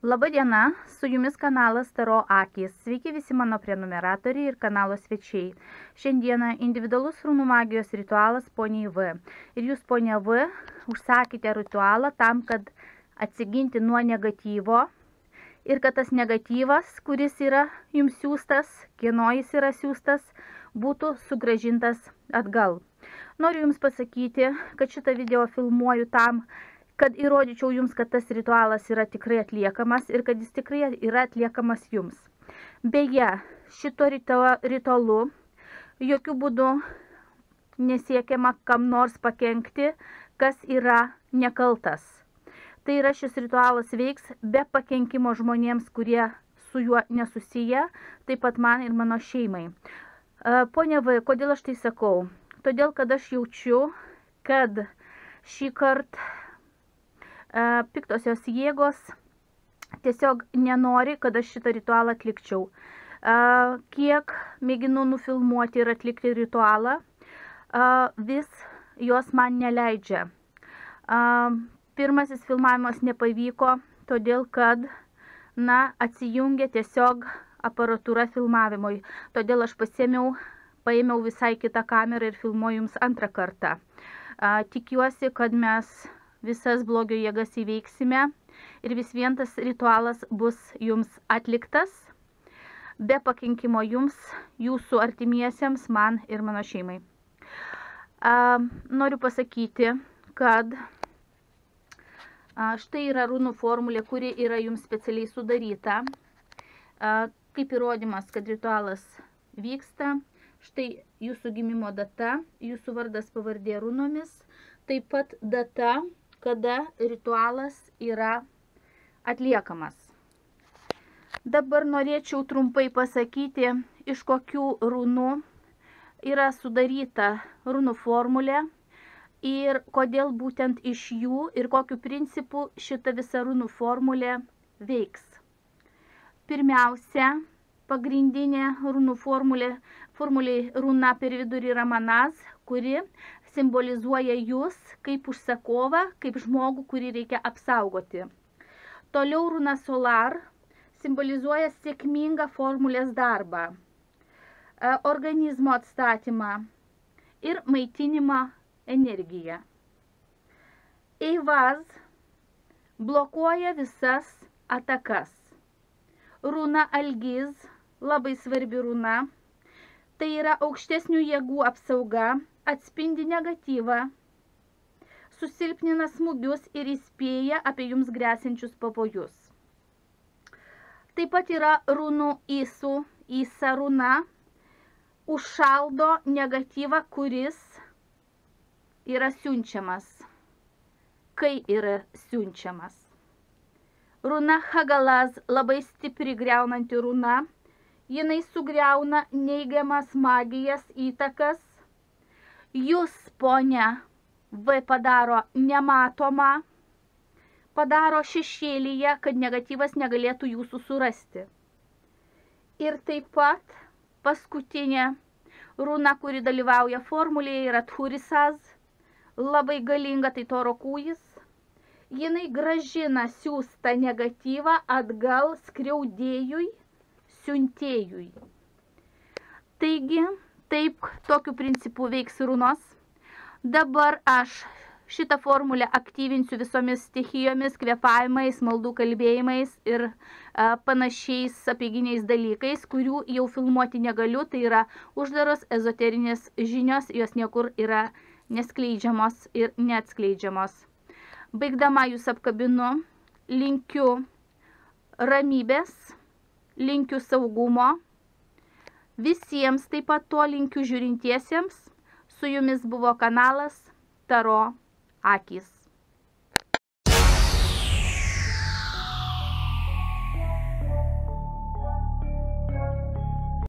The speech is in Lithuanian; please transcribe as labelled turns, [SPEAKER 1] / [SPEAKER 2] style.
[SPEAKER 1] Labą dieną, su jumis kanalas Taro Akys. Sveiki visi mano prenumeratoriai ir kanalo svečiai. Šiandieną individualus runų magijos ritualas poniai V. Ir jūs, ponia V, užsakėte ritualą tam, kad atsiginti nuo negatyvo ir kad tas negatyvas, kuris yra jums siūstas, kieno jis yra siūstas, būtų sugrąžintas atgal. Noriu jums pasakyti, kad šitą video filmuoju tam, kad įrodyčiau jums, kad tas ritualas yra tikrai atliekamas ir kad jis tikrai yra atliekamas jums. Beje, šito ritualu jokių būdų nesiekiama kam nors pakenkti, kas yra nekaltas. Tai yra, šis ritualas veiks be pakenkimo žmonėms, kurie su juo nesusiję, taip pat man ir mano šeimai. Ponia V, kodėl aš tai sakau? Todėl, kad aš jaučiu, kad šį kartą piktosios jėgos tiesiog nenori, kad aš šitą ritualą atlikčiau. Kiek mėginu nufilmuoti ir atlikti ritualą, vis jos man neleidžia. Pirmasis filmavimas nepavyko, todėl kad, atsijungė tiesiog aparatūra filmavimui. Todėl aš paėmiau visai kitą kamerą ir filmuoju jums antrą kartą. Tikiuosi, kad mes visas blogio jėgas įveiksime ir vis vien tas ritualas bus jums atliktas, be pakenkimo jums, jūsų artimiesiems, man ir mano šeimai. Noriu pasakyti, kad štai yra runų formulė, kuri yra jums specialiai sudaryta, kaip įrodymas, kad ritualas vyksta. Štai jūsų gimimo data, jūsų vardas pavardė runomis, taip pat data, kada ritualas yra atliekamas. Dabar norėčiau trumpai pasakyti, iš kokių runų yra sudaryta runų formulė ir kodėl būtent iš jų ir kokiu principu šita visa runų formulė veiks. Pirmiausia, pagrindinė runų formulė runa per vidurį yra Manaz, kuri simbolizuoja jūs kaip užsakovą, kaip žmogų, kurį reikia apsaugoti. Toliau runa Solar simbolizuoja sėkmingą formulės darbą, organizmo atstatymą ir maitinimą energiją. Eivaz blokuoja visas atakas. Runa Algiz, labai svarbi runa, tai yra aukštesnių jėgų apsauga, atspindi negatyvą, susilpnina smūgius ir įspėja apie jums gresiančius pavojus. Taip pat yra runų Isa runa, užšaldo negatyvą, kuris yra siunčiamas, kai yra siunčiamas. Runa Hagalaz, labai stipri griaunanti runa, jinai sugriauna neigiamas magijas įtakas. Jūs, ponia V, padaro nematomą, padaro šešėlyje, kad negatyvas negalėtų jūsų surasti. Ir taip pat paskutinė runa, kuri dalyvauja formulėje, yra Thurisaz, labai galinga, tai Toro kūjis. Jinai gražina siųstą negatyvą atgal skriaudėjui, siuntėjui. Taigi, taip, tokiu principu veiks runos. Dabar aš šitą formulę aktyvinsiu visomis stichijomis, kvėpavimais, maldų kalbėjimais ir panašiais apeiginiais dalykais, kurių jau filmuoti negaliu. Tai yra uždaros ezoterinės žinios, jos niekur yra neskleidžiamos ir neatskleidžiamos. Baigdama jūs apkabinu, linkiu ramybės, linkiu saugumo. Visiems taip pat to linkiu žiūrintiesiems. Su jumis buvo kanalas Taro Akys.